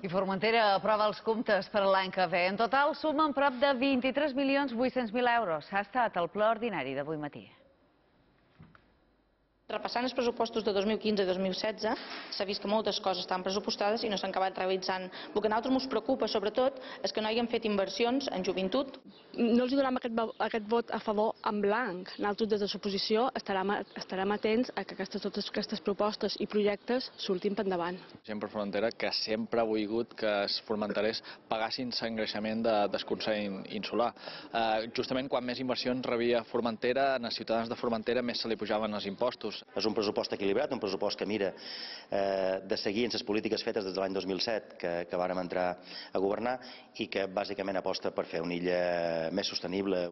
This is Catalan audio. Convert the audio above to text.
I Formentera aprova els comptes per a l'any que ve. En total sumen prop de 23.800.000 euros. Ha estat el ple ordinari d'avui matí. Repassant els pressupostos de 2015 i 2016, s'ha vist que moltes coses estan pressupostades i no s'han acabat realitzant. El que a nosaltres ens preocupa, sobretot, és que no hagin fet inversions en joventut. No els donem aquest vot a favor en blanc. Nosaltres, des de l'oposició, estarem atents a que totes aquestes propostes i projectes surtin per endavant. Gent per Formentera que sempre ha volgut que els formenterers pagassin l'engreixament del Consell Insular. Justament quan més inversions rebia Formentera, als ciutadans de Formentera més se li pujaven els impostos. És un pressupost equilibrat, un pressupost que mira de seguir en les polítiques fetes des de l'any 2007 que vàrem entrar a governar i que bàsicament aposta per fer una illa més sostenible.